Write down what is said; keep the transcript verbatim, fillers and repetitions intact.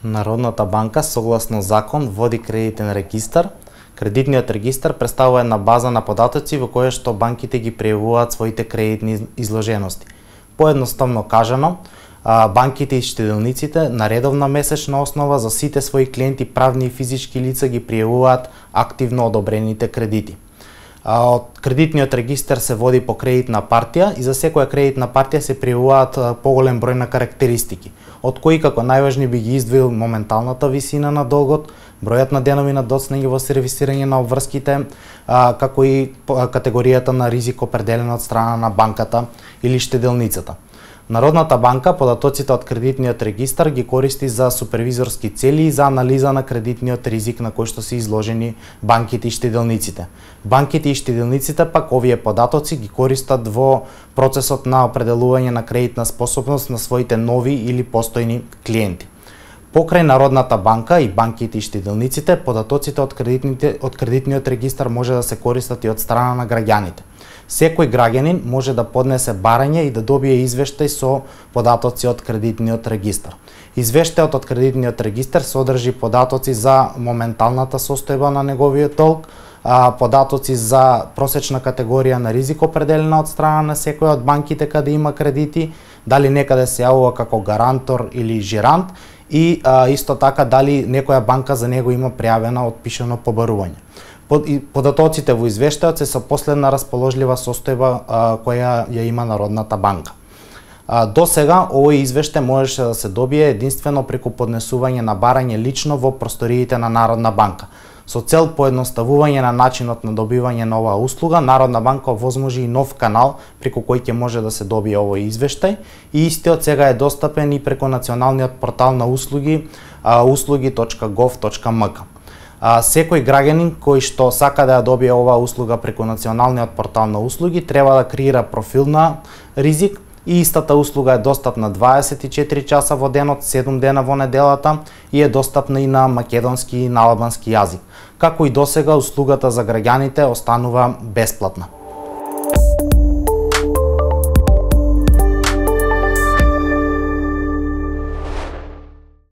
Народната банка согласно закон води кредитен регистар. Кредитниот регистар представува една база на податоци во која што банките ги пријавуваат своите кредитни изложености. Поедноставно кажано, банките и штеделниците на редовна месечна основа за сите своји клиенти, правни и физички лица, ги пријавуваат активно одобрените кредити. Од кредитниот регистар се води по кредитна партија и за секоја кредитна партија се пријавуваат поголем број на карактеристики, од кои како најважни би ги издвоил моменталната висина на долгот, бројот на денови на доцнење во сервисирање на обврските, како и категоријата на ризик определена од страна на банката или штеделницата. Народната банка податоците од кредитниот регистар ги користи за супервизорски цели и за анализа на кредитниот ризик на кој што се изложени банките и штеделниците. Банките и штеделниците пак овие податоци ги користат во процесот на определување на кредитна способност на своите нови или постојни клиенти. Покрај Народната банка и банките и штеделниците, податоците од кредитните од кредитниот регистар може да се користат и од страна на граѓаните. Секој граѓанин може да поднесе барање и да добие извештај со податоци од кредитниот регистар. Извештајот од кредитниот регистар содржи податоци за моменталната состојба на неговиот долг, податоци за просечна категорија на ризик определена од страна на секоја од банките каде има кредити, дали некаде се јавува како гарантор или жирант и а, исто така дали некоја банка за него има пријавена отпишано побарување. Податоците во извештајот се со последна расположлива состојба а, која ја има Народната банка. А, до сега овој извештај можеше да се добие единствено преку поднесување на барање лично во просториите на Народна банка. Со цел поедноставување на начинот на добивање на оваа услуга, Народна банка овозможи и нов канал преку кој ќе може да се добие овој извештај и истиот сега е достапен и преку националниот портал на услуги услуги точка гов точка ем ка. Секој граѓанин кој што сака да ја добие оваа услуга преку националниот портал на услуги треба да креира профил на ризик и истата услуга е достапна дваесет и четири часа во денот, седум дена во неделата и е достапна и на македонски и на албански јазик. Како и досега, услугата за граѓаните останува бесплатна.